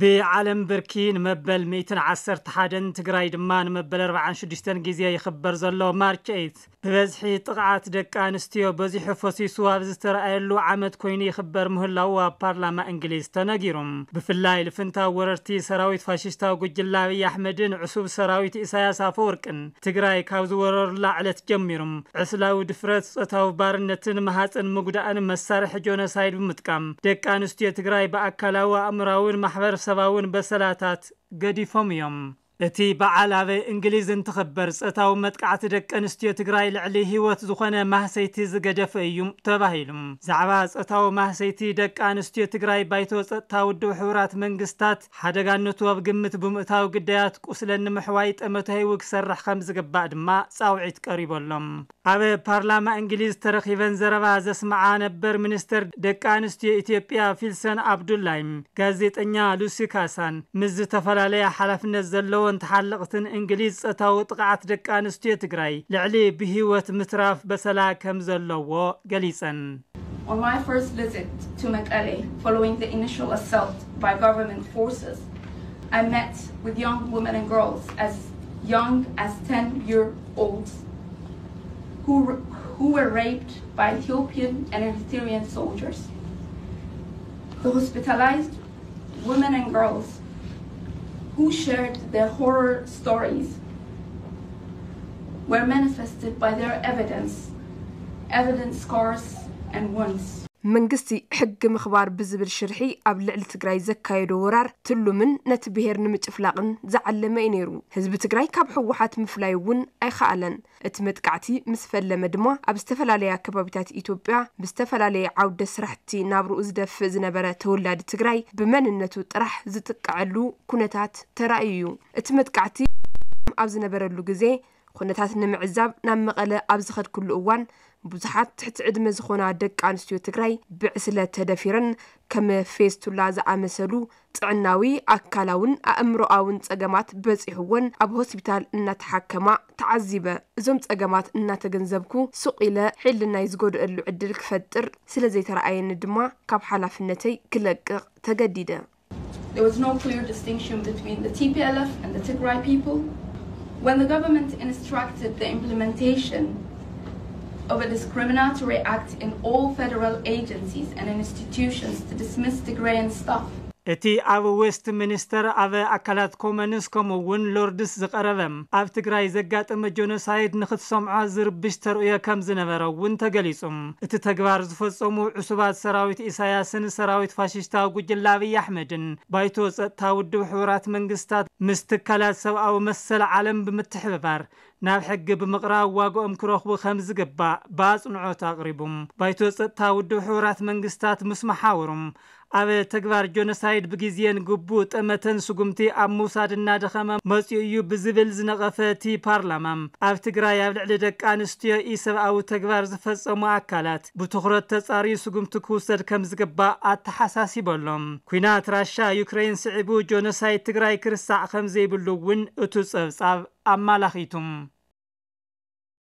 ብዓለም ብርኪ ንመበል ሚእትን ዓሰርተ ሓደን፣ ትግራይ ድማ ንመበል ኣርባዓን ሽዱሽተን ግዜ ይኽበር ዘሎ ማርች ኤይት፣ ብበዝሒ ጥቕዓት ደቂ ኣንስትዮ በዚሑ ፈሲሱ ኣብ ዝተረኣየሉ ዓመት ኮይኑ ይኽበር ምህላዉ ኣብ ፓርላማ እንግሊዝ ተነጊሩ። ብፍላይ ልፍንታዊ ወረርቲ ሰራዊት ፋሽስታዊ ጉጅለ ኣብይ ኣሕመድን ዕሱብ ሰራዊት ኢሳያስ ኣፈወርቅን ትግራይ ካብ ዝወረሩላ ዕለት ጀሚሩ ዕስላዊ ድፍረት፣ ጾታዊ ባርነትን ማህፀን ምጉዳእን መሳርሒ ጆኖሳይድ ብምጥቃም ደቂ ኣንስትዮ ትግራይ ብኣካላዊ፣ ኣእምራውን ማሕበረሰባውን በሰላታት ገዲፎም እዮም። እቲ በዓል ኣብ እንግሊዝ እንትኽበር፣ ጾታዊ መጥቃዕቲ ደቂ ኣንስትዮ ትግራይ ልዕሊ ህይወት ዝኾነ ማህሰይቲ ዝገደፈ እዩ ተባሂሉ። ዛዕባ ጾታዊ ማህሰይቲ ደቂ ኣንስትዮ ትግራይ፣ ባይቶ ጸጥታ ውድብ ሕቡራት መንግስታት ሓደጋነቱ ኣብ ግምት ብምእታው፣ ግዳያት ቁስለን ንምሕዋይ ጠመተ ሂቡ ክሰርሕ ከም ዝግባእ ድማ ጻውዒት ቀሪበሎም። ኣብ ፓርላማ እንግሊዝ ተረኺበን ዘረባ ዘስምዓ ነበር ሚኒስተር ደቂ ኣንስትዮ ኢትዮጵያ ፊልሰን ኣብዱላይ፣ ጋዜጠኛ ሉሲ ካሳን ምስ ዝተፈላለያ ሓላፍነት ዘለዎን ተሓለቕትን እንግሊዝ፣ ጾታዊ ጥቕዓት ደቂ ኣንስትዮ ትግራይ ልዕሊ ብህይወት ምትራፍ በሰላ ከም ዘለዎ ገሊጸን። On my first visit to Mekelle following the initial assault by government forces, I met with young women and girls as young as ten year olds who, who were raped by Ethiopian and Eritrean soldiers. The hospitalized women and girls who shared their horror stories were manifested by their evidence, evidence, scars, and wounds. መንግስቲ ሕጊ ምኽባር ብዝብል ሽርሒ ኣብ ልዕሊ ትግራይ ዘካየዶ ወራር ትሉምን ነቲ ብሄር ንምጭፍላቕን ዝዓለመ እዩ ነይሩ። ህዝቢ ትግራይ ካብ ህወሓት ምፍላይ እውን ኣይኸኣለን። እቲ መጥቃዕቲ ምስ ፈለመ ድማ ኣብ ዝተፈላለያ ከባቢታት ኢትዮጵያ ብዝተፈላለየ ዓውደ ስራሕቲ ናብርኡ ዝደፍእ ዝነበረ ተወላዲ ትግራይ ብመንነቱ ጥራሕ ዝጥቀዐሉ ኩነታት ተራእዩ እዩ። እቲ መጥቃዕቲ ኣብ ዝነበረሉ ግዜ ኩነታት ንምዕዛብ ናብ መቐለ ኣብ ዝኸድኩሉ እዋን ብዙሓት ትሕቲ ዕድመ ዝኾና ደቂ ኣንስትዮ ትግራይ ብዕስለ ተደፊረን ከም ፌስቱላ ዝኣመሰሉ ጥዕናዊ ኣካላውን ኣእምሮኣውን ጸገማት በጺሕወን ኣብ ሆስፒታል እናተሓከማ ተዓዚበ። እዞም ጸገማት እናተገንዘብኩ ሱቕ ኢለ ሕልናይ ዝጎድኣሉ ዕድል ክፈጥር ስለ ዘይተረኣየኒ ድማ ካብ ሓላፍነተይ ክለቅቕ ተገዲደ። There was no clear distinction between the T P L F and the Tigray people. When the government instructed the implementation of a discriminatory act in all federal agencies and institutions to dismiss Tigrayan staff, እቲ ኣብ ዌስት ሚኒስተር ኣብ ኣካላት ኮመንስ ከምኡ እውን ሎርድስ ዝቐረበ ኣብ ትግራይ ዘጋጠመ ጆኖሳይድ ንክትሰምዖ ዝርብሽ ተርእዮ ከም ዝነበረ እውን ተገሊጹ። እቲ ተግባር ዝፈጸሙ ዕሱባት ሰራዊት ኢሳያስን ሰራዊት ፋሽስታዊ ጉጅለ ኣብይ ኣሕመድን ባይቶ ጸጥታ ውድብ ሕቡራት መንግስታት ምስ ትካላት ሰብኣዊ መሰል ዓለም ብምትሕብባር ናብ ሕጊ ብምቕራብ ዋግኦም ክረኽቡ ከም ዝግባእ ብኣጽንዖት ኣቕሪቡ። ባይቶ ጸጥታ ውድብ ሕቡራት መንግስታት ምስ መሓውሩ ኣብ ተግባር ጆኖሳይድ ብግዜን ግቡእ ጠመተን ስጉምቲ ኣብ ምውሳድ እናደኸመ መጺኡ እዩ ብዝብል ዝነቐፈ እቲ ፓርላማ፣ ኣብ ትግራይ ኣብ ልዕሊ ደቂ ኣንስትዮ ኢሰብኣዊ ተግባር ዝፈጸሙ ኣካላት ብትኹረት ተጻርዩ ስጉምቲ ክውሰድ ከም ዝግባእ ኣተሓሳሲቡ ኣሎ። ኲናት ራሻ ዩክሬን ስዒቡ ጆኖሳይድ ትግራይ ክርሳዕ ከም ዘይብሉ እውን እቱ ጸብጻብ ኣመላኺቱ።